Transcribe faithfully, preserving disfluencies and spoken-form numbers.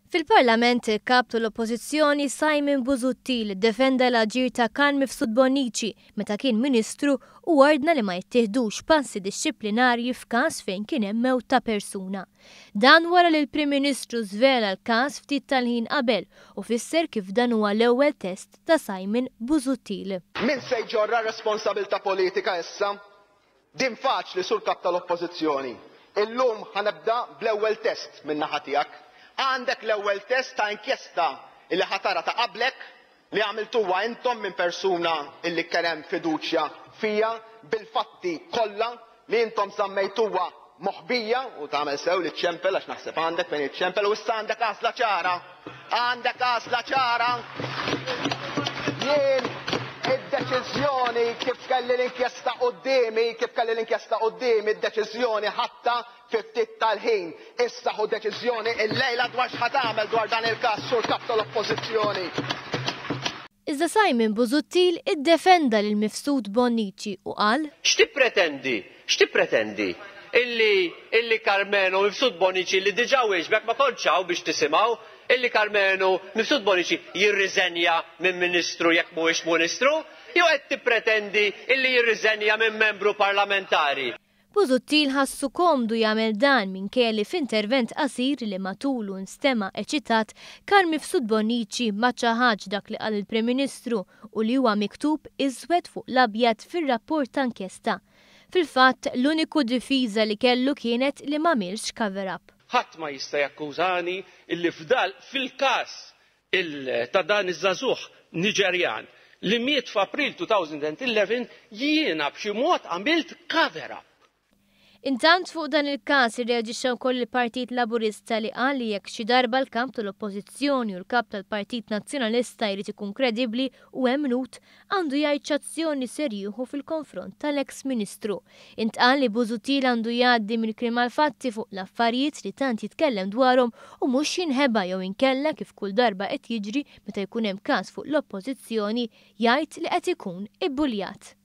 Fil-Parlament, il-kap tal-Oppożizzjoni Simon Busuttil defenda l-aġir ta' Carm Mifsud Bonnici meta kien Ministru u ordna li ma jittieħdux passi dixxiplinarji f'każ fejn kien hemm mewt ta' persuna. Dan wara li l-Prim Ministru żvela l-każ ftit tal-ħin qabel u fisser kif dan huwa l-ewwel test ta' Simon Busuttil. Min se jġorra responsabilità politika issa? Din faċli, sur kap tal-Oppożizzjoni. Illum ħa nibda bl-ewwel test min-naħa tiegħek. Għandek l-ewwel test ta' inkjesta illi ħa tara ta' qablek li għamiltuha intom minn persuna illi kien hemm fiduċja fija bil-fatti kollha li intom żammejtuha moħbija u tagħmel sew li ċempel għax naħseb għandek fejn iċċempel u issa għandek għażla ċara. Għandek għażla ċara. Jien id-deċiżjoni kif kelli l-inkjesta quddiemi, kif kelli l-inkjesta quddiemi, id-deċiżjoni ħadtha fi ftit tal-ħin. Issa ħu deċiżjoni illejla dwar x'ħa tagħmel dwar dan il-każ, sur kap tal-Oppożizzjoni. Iżda Simon Busuttil iddefenda lil Mifsud Bonnici u qal: X'tippretendi? X'tippretendi? Illi illi Karmenu Mifsud Bonnici li diġà wieġbek ma kontx hawn biex tisimgħu illi Karmenu Mifsud Bonnici jirriżenja minn ministru jekk mhuwiex ministru, jew qed tippretendi illi jirriżenja minn membru parlamentari? Busuttil ħassu komdu jagħmel dan minkejja li f'intervent qasir li matulu nstema' eċitat, Carm Mifsud Bonnici ma ċaħadx dak li qal il-Prim Ministru u li huwa miktub iswed fuq l-abjad fir-rapport ta' inkjesta. Fil-fatt, l-uniku difiża li kellu kienet li m'għamilx cover-up. Ħadd ma jista' jakkużani illi f'dal fil-każ ta' dan iż-żagħżugħ Niġerjan li miet f'April elfejn u ħdax jiena b'xi mod għamilt cover-up. Intant fuq dan il-każ irreaġixxa wkoll il-Partit Laburista li qal li jekk xi darba l-kamp tal-Oppożizzjoni u l-kap tal-Partit Nazzjonalista jrid ikun kredibbli u emmnut, għandu jgħid x'azzjoni ser jieħu fil-konfront tal-eks Ministru. Intqal li Busuttil għandu jgħaddi mill-kliem għall-fatti fuq l-affarijiet li tant jitkellem dwarhom u mhux jinħeba jew inkella, kif kull darba qed jiġri meta jkun hemm każ fuq l-Oppożizzjoni, jgħid li qed ikun ibbuljat.